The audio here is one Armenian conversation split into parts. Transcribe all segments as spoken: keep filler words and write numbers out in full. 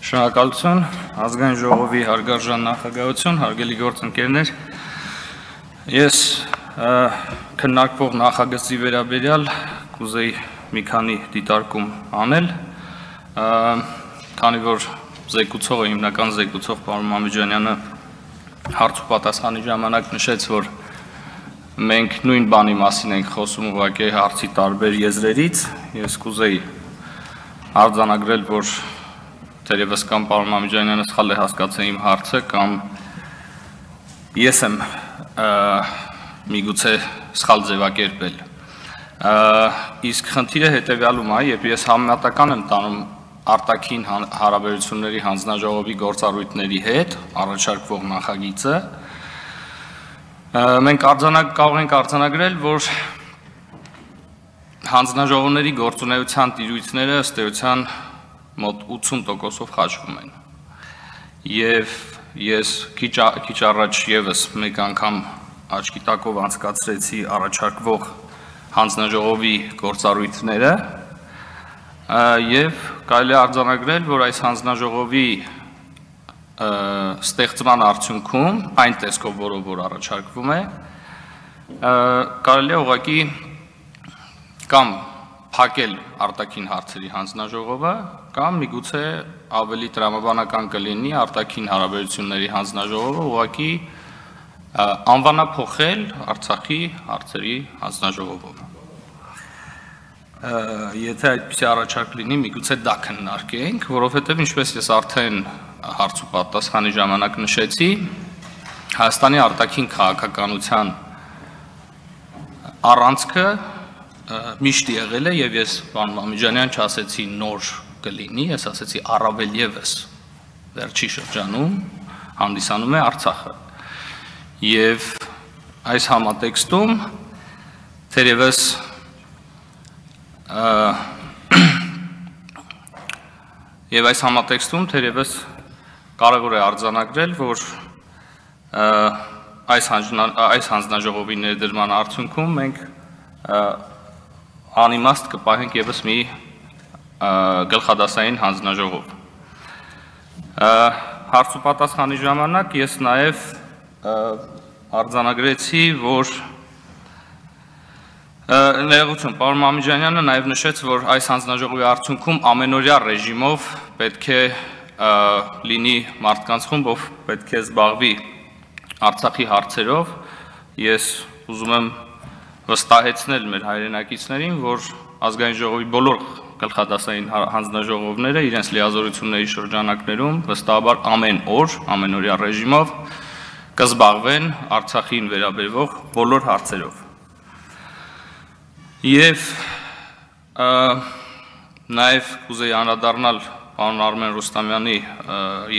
Շնորհակալություն, ազգային ժողովի հարգարժան նախագահություն, հարգելի գործընկերներ, ես քննարկվող նախագծի վերաբերյալ կուզեի մի քանի դիտարկում անել, քանի որ զեկուցողը, հիմնական զեկուցող պարոն Մամեջանյանը հարց ու պատասխանի ժամանակ նշեց, որ մենք նույն բանի մասին ենք խոսում ուղղակի հարցի տարբեր եզրերից, ես կուզեի արձանագրել, որ Թերևս կամ պարոն Մամեջանյանը սխալ է հասկացել իմ հարցը, կամ ես եմ միգուցե սխալ ձևակերպել։ Իսկ խնդիրը հետևյալում է, երբ ես համեմատական եմ տանում արտաքին հարաբերությունների հանձնաժողովի գործառույթների հետ առաջարկվող նախագիծը, մենք կարող ենք արձանագրել, որ հանձնաժողովների գործունեության տիրույթները ըստ էության մոտ ութսուն տոկոսով խաչվում են, և ես քիչ առաջ ևս մեկ անգամ աչքի տակով անցկացրեցի առաջարկվող հանձնաժողովի գործառույթները, և կարելի է արձանագրել, որ այս հանձնաժողովի ստեղծման արդյունքում, այն տեսքով, որով որ առաջարկվում է, կարելի է ուղղակի կամ փակել արտաքին հարցերի հանձնաժողովը, կամ միգուցե ավելի տրամաբանական կլինի արտաքին հարաբերությունների հանձնաժողովը ուղղակի անվանափոխել Արցախի հարցերի հանձնաժողովով։ Եթե այդպիսի առաջարկ լինի, միգուցե դա քննարկենք, որովհետև ինչպես ես արդեն հարց ու պատասխանի ժամանակ նշեցի, Հայաստանի արտաքին քաղաքականության առանցքը միշտ եղել է, և ես պարոն Մամեջանյան չասեցի նոր կլինի, ես ասեցի առավել ևս վերջի շրջանում հանդիսանում է Արցախը։ Եվ այս համատեքստում թերևս և այս համատեքստում թերևս կարևոր է արձանագրել, որ այս հանձնաժողովի ներդրման արդյունքում մենք անիմաստ կպահենք ևս մի գլխադասային հանձնաժողով։ Հարց ու պատասխանի ժամանակ ես նաև արձանագրեցի, որ ներողություն, պարոն Մամեջանյանը նաև նշեց, որ այս հանձնաժողովի արդյունքում ամենօրյա ռեժիմով պետք է լինի մարդկանց խումբ, ով պետք է զբաղվի Արցախի հարցերով։ Ես ուզում եմ վստահեցնել մեր հայրենակիցներին, որ ազգային ժողովի բոլոր գլխադասային հանձնաժողովները իրենց լիազորությունների շրջանակներում վստահաբար ամեն օր, ամենօրյա ռեժիմով կզբաղվեն Արցախին վերաբերող բոլոր հարցերով։ Եվ նաև կուզեի անդրադառնալ պարոն Արմեն Ռուստամյանի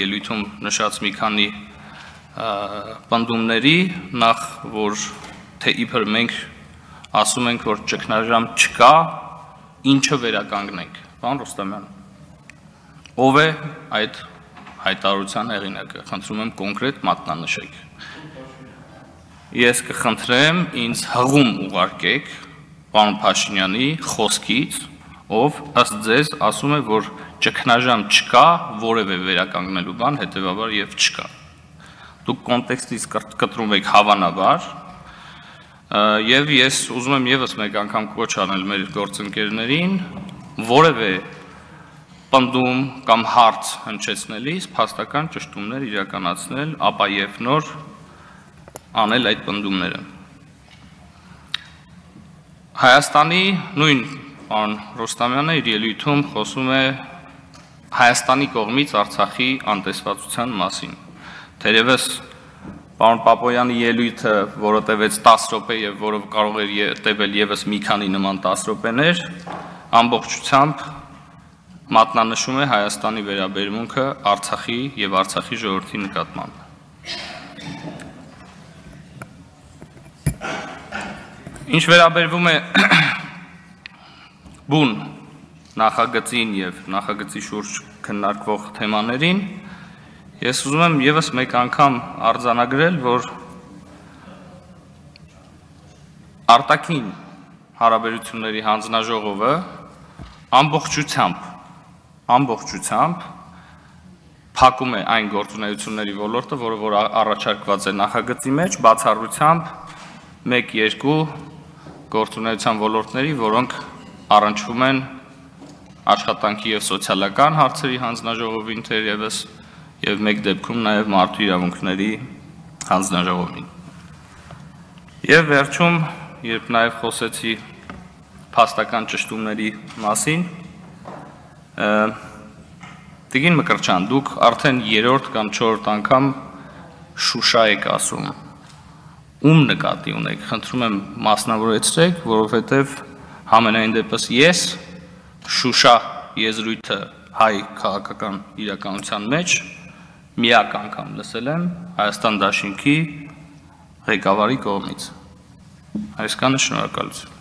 ելույթում նշած մի քանի պնդումների, նախ որ թե իբր մենք ասում ենք, որ ճգնաժամ չկա, ինչը վերականգնենք։ Պարոն Ռուստամյան, ով է այդ հայտարարության հեղինակը, խնդրում եմ կոնկրետ մատնանշեք։ Ես կխնդրեմ ինձ հղում ուղարկեք պարոն Փաշինյանի խոսքից, ով ըստ ձեզ ասում է, որ ճգնաժամ չկա, որևէ վերականգնելու բան հետևաբար և չկա։ Դուք կոնտեքստից կտրում եք հավանաբար, և ես ուզում եմ ևս մեկ անգամ կոչ անել մեր գործընկերներին, որևէ պնդում կամ հարց հնչեցնելիս փաստական ճշտումներ իրականացնել, ապա և նոր անել այդ պնդումները։ Հայաստանի նույն պարոն Ռուստամյանը իր ելույթում խոսում է Հայաստանի կողմից Արցախի անտեսվածության մասին։ Թերևս պարոն Պապոյանի ելույթը, որը տևեց տասը րոպե և որը կարող էր տևել ևս մի քանի նման տասը րոպեներ, ամբողջությամբ մատնանշում է Հայաստանի վերաբերմունքը Արցախի և Արցախի ժողովրդի նկատմամբ։ Ինչ վերաբերվում է բուն նախագծին և նախագծի շուրջ քննարկվող թեմաներին, ես ուզում եմ ևս մեկ անգամ արձանագրել, որ արտաքին հարաբերությունների հանձնաժողովը ամբողջությամբ ամբողջությամբ փակում է այն գործունեությունների ոլորտը, որը որ առաջարկված է նախագծի մեջ, բացառությամբ մեկ երկու գործունեության ոլորտների, որոնք առնչվում են աշխատանքի եւ սոցիալական հարցերի հանձնաժողովին թերևս եւ մեկ դեպքում նաեւ մարդու իրավունքների հանձնաժողովին։ Եվ վերջում, երբ նաեւ խոսեցի փաստական ճշտումների մասին, Տիկին Մկրտչյան, դուք արդեն երրորդ կամ չորրորդ անգամ Շուշա եք ասում։ Ում նկատի ունեք, խնդրում եմ մասնավորեցրեք, որովհետև համենայն դեպս ես Շուշա եզրույթը հայ քաղաքական իրականության մեջ միակ անգամ լսել եմ Հայաստան Դաշինքի ղեկավարի կողմից։ Այսքանը, շնորհակալություն։